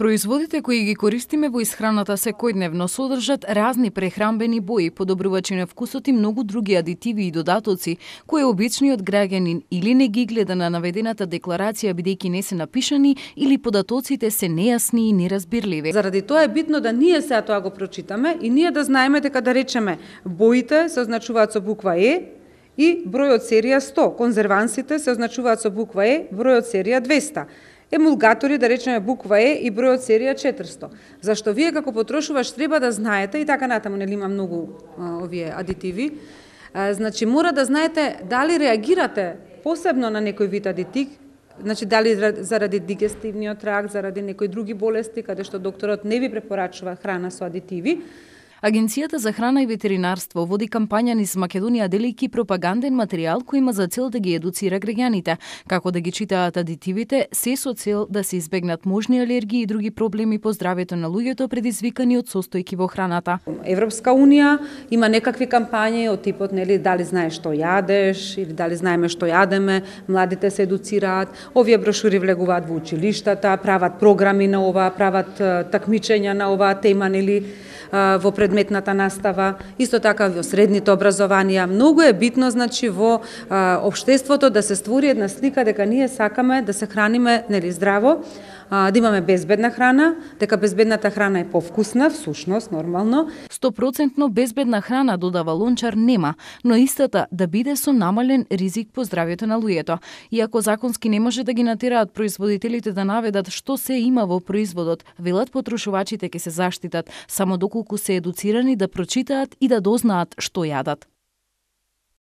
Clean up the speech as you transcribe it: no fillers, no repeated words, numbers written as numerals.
Производите кои ги користиме во исхраната секојдневно содржат разни прехранбени бои, подобрувачи на вкусот и многу други адитиви и додатоци, кои обичниот граѓанин или не ги гледа на наведената декларација бидејќи не се напишани или податоците се нејасни и неразбирливи. Заради тоа е битно да ние сега тоа го прочитаме и ние да знаеме дека да речеме боите се означуваат со буква Е и бројот серија 100, конзервансите се означуваат со буква Е, бројот серија 200. Емулгатори, да речеме буква Е и бројот серија 400. Зашто вие како потрошувач треба да знаете, и така натаму нели има многу овие адитиви, значи мора да знаете дали реагирате посебно на некој вид адитив, значи дали заради дигестивниот тракт, заради некои други болести, каде што докторот не ви препорачува храна со адитиви. Агенцијата за храна и ветеринарство води кампања низ Македонија делејќи пропаганден материјал кој има за цел да ги едуцира граѓаните, како да ги читаат адитивите, се со цел да се избегнат можни алергии и други проблеми по здравјето на луѓето предизвикани од состојки во храната. Европска унија има некакви кампањи од типот нели дали знаеш што јадеш или дали знаеме што јадеме, младите се едуцираат, овие брошури влегуваат во училиштата, прават програми на ова, прават такмичења на оваа тема нели во предметната настава, исто така во средните образованија. Многу е битно значи во општеството да се створи една слика дека ние сакаме да се храниме нели здраво, да имаме безбедна храна, дека безбедната храна е повкусна, всушност нормално. 100% безбедна храна, додава Лончар, нема, но истата да биде со намален ризик по здравјето на луѓето. Иако законски не може да ги натераат производителите да наведат што се има во производот, велат потрошувачите ќе се заштитат само доколку се едуцирани да прочитаат и да дознаат што јадат.